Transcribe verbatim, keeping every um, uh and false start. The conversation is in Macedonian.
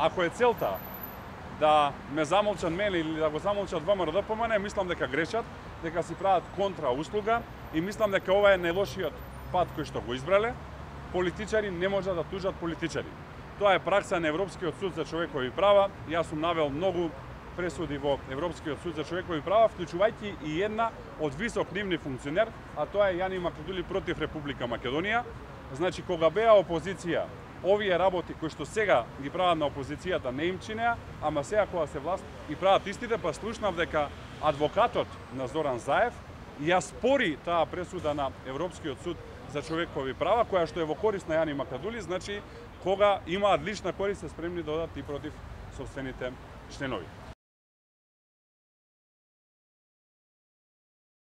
ако е целта да ме замолчат мене или да го замолчат ВМРО Д P M N, мислам дека грешат, дека си прават контра услуга и мислам дека ова е најлошиот пат кој што го избрале. Политичари не можат да тужат политичари. Тоа е пракса на Европскиот суд за човекови права. Јас сум навел многу пресуди во Европскиот суд за човекови права, вклучувајќи и една од висок нивни функционер, а тоа е Јани Македули против Република Македонија. Значи, кога беа опозиција, овие работи кои што сега ги прават на опозицијата не им чинеа, ама сега кога се власт и прават истите, па слушнав дека адвокатот на Зоран Заев ја спори таа пресуда на Европскиот суд за човекови права, која што е во корист на Јани Македули, значи кога имаат лична корист се спремни да одат и против собствените членови.